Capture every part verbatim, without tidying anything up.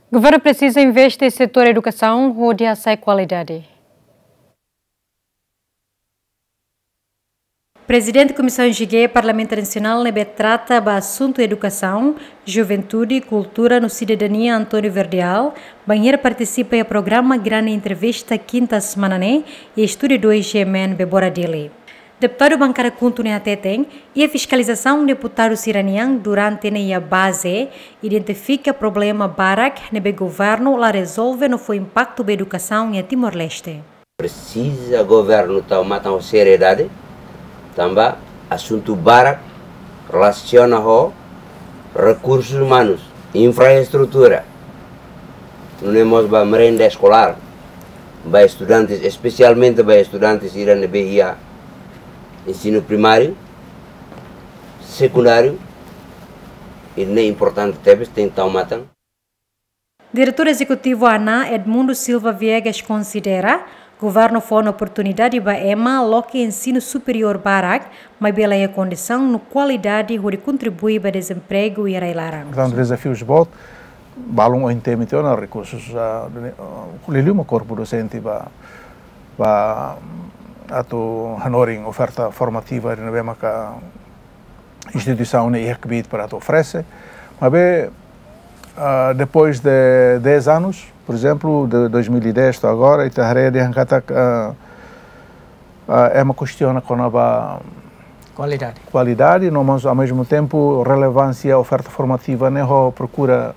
Governu presiza investe setór edukasaun hodi hasa'e kualidade. Prezidente Komisaun G G Parlamentu Nasionál ne'ebé trata ba asuntu edukasaun, juventude, kultura no sidadania, António Verdial, bainhira partisipa iha programa Grande Entrevista kinta semana ne'e, iha Estúdiu dois G M N Bebora Dili. Deputadu bankada KHUNTO ne'e hateten, iha fiskalizasaun deputadu sira-nian durante ne'e iha baze, identifika problema barak ne'ebé governu la rezolve no fó impaktu ba edukasaun iha Timor-Leste. Presiza governu tau matan ho seriedade, tanba asuntu barak relasiona ho rekursus umanus, infraestrutura, nune'e mós ba merenda eskolár, ba estudantes, espesialmente ba estudantes sira ne'ebé iha ensinu primáriu, sekundáriu, i ne'e importante tebes, tenke tau matan. Diretór Ezekutivu ANAA, Edmundo Silva Viegas, konsidera governu fó ona oportunidade ba ema loke ensinu superiór barak, maibé la iha kondisaun no kualidade hodi kontribui ba dezempregu iha rai-laran. Portantu, dezafius boot, balun ohin temi tiha ona rekursus, ah, de, ah, liuliu mak korpu dosente ba, ba atu hanorin oferta formativa ne'ebé maka instituisaun ne'e iha kbiit para atu oferese. Maibé, ah, depois de dez anos, por exemplo, de dois mil e dez to'o agora, ita haree dehan katak, ah, ah, ema kestiona kona-ba kualidade. Kualidade, no, mas ao mesmo tempo relevância oferta formativa ne'e ho prokura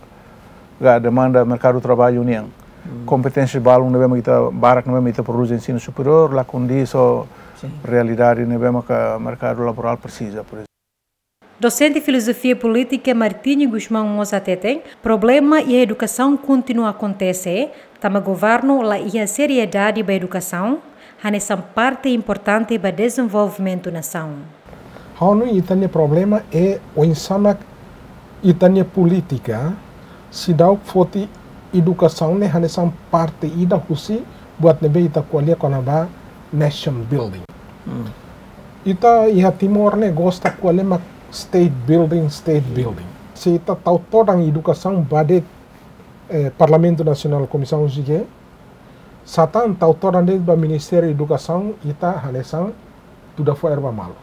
ka demanda merkadu traballu nian. Hmm. Kompeténsia balun ne'ebé mak ita, barak ne'ebé mak ita prodús ensinu superiór, la kondiz ho, sin, realidade ne'ebé maka merkadu laborál presiza, por ezemplu. Dosente Filozofia Polítika Martinho Gusmão mós hateten, problema iha edukasaun kontinua akontese, tanba governu la iha seriedade ba edukasaun, hanesan parte importante ba dezenvolvimentu nasaun. Ha'u hanoin ita-nia problema é oinsá mak ita-nia polítika seidauk foti edukasaun ne'e hanesan parte ida husi buat ne'ebé ita ko'alia kona-ba nation building. Hmm. Ita iha Timor ne'e gosta ko'alia mak state building, state building. Se ita tau todan edukasaun ba de'it, eh, Parlamentu Nasionál, Komisaun G G, satán tau todan de'it ba Ministériu Edukasaun, ita hanesan tuda fó erva malu.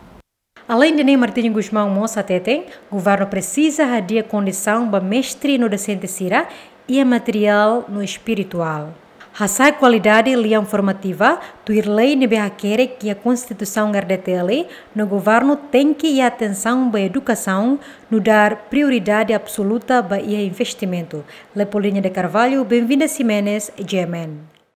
Aleinde ne'e, Martinho Gusmão mós hateten, governu presiza hadi'a kondisaun ba mestre no dosente sira, iha materiál no espirituál. Hasa'e kualidade lian formativa, tuir lei ne'ebé hakerek iha Konstituisaun R D T L, no governu tenke iha atensaun ba edukasaun, nu'udar prioridade absoluta ba iha investimentu. Leopoldina de Carvalho, Benvinda Ximenes, G M N.